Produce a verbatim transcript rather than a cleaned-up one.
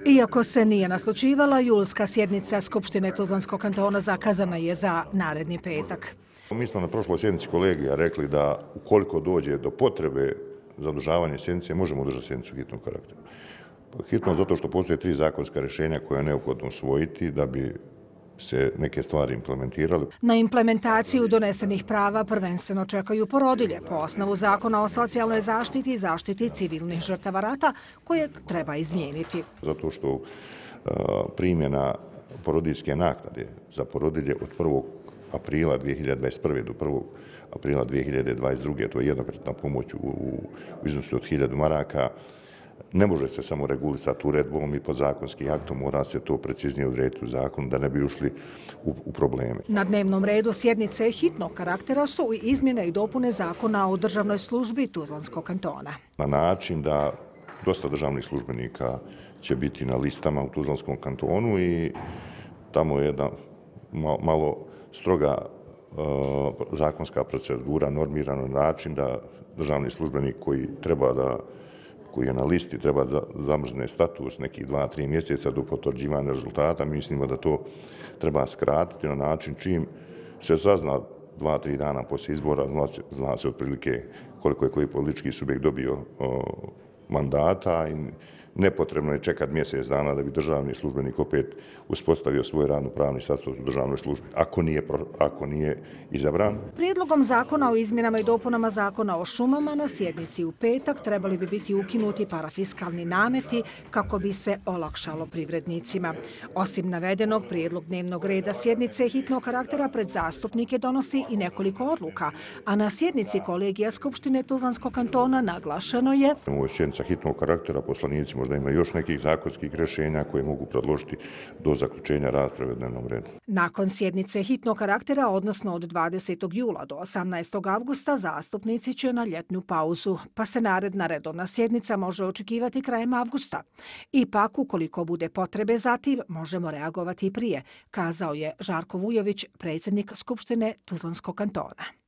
Iako se nije naslućivala, julska sjednica Skupštine Tuzlanskog kantona zakazana je za naredni petak. Mi smo na prošloj sjednici kolegija rekli da ukoliko dođe do potrebe za održavanje sjednice, možemo održati sjednicu hitnog karaktera. Hitno zato što postoje tri zakonska rješenja koje je neophodno usvojiti da bi se neke stvari implementirali. Na implementaciju donesenih prava prvenstveno čekaju porodilje po osnovu Zakona o socijalnoj zaštiti i zaštiti civilnih žrtava rata koje treba izmijeniti. Zato što uh, primjena porodiljske naknade za porodilje od prvog aprila dvije hiljade dvadeset prve do prvog aprila dvije hiljade dvadeset druge, to je jednokratna pomoć u, u iznosu od hiljadu maraka, ne može se samo regulisati uredbom i podzakonskim aktom, mora se to preciznije odrediti u zakonu da ne bi ušli u, u probleme. Na dnevnom redu sjednice hitnog karaktera su i izmjene i dopune Zakona o državnoj službi Tuzlanskog kantona. Na način da dosta državnih službenika će biti na listama u Tuzlanskom kantonu i tamo je jedna malo stroga uh, zakonska procedura normirana na način da državni službenik koji treba da koji je na listi treba da zamrzne status nekih dva, tri mjeseca do potvrđivanja rezultata. Mislimo da to treba skratiti na način čim se sazna dva, tri dana poslije izbora, zna se, zna se otprilike koliko je koji politički subjekt dobio o, mandata i nepotrebno je čekati mjesec dana da bi državni službenik opet uspostavio svoj radno-pravni status u državnoj službi, ako nije, ako nije izabran. Prijedlogom zakona o izmjenama i dopunama Zakona o šumama na sjednici u petak trebali bi biti ukinuti parafiskalni nameti kako bi se olakšalo privrednicima. Osim navedenog, prijedlog dnevnog reda sjednice hitnog karaktera pred zastupnike donosi i nekoliko odluka, a na sjednici kolegija Skupštine Tuzlanskog kantona naglašeno je: Ovo je sjednica hitnog karaktera, poslanici možda ima još nekih zakonskih rješenja koje mogu predložiti do zaključenja rasprave u dnevnom redu. Nakon sjednice hitnog karaktera, odnosno od dvadesetog jula do osamnaestog avgusta, zastupnici će na ljetnu pauzu, pa se naredna redovna sjednica može očekivati krajem avgusta. Ipak, ukoliko bude potrebe za tim, možemo reagovati i prije, kazao je Žarko Vujović, predsjednik Skupštine Tuzlanskog kantona.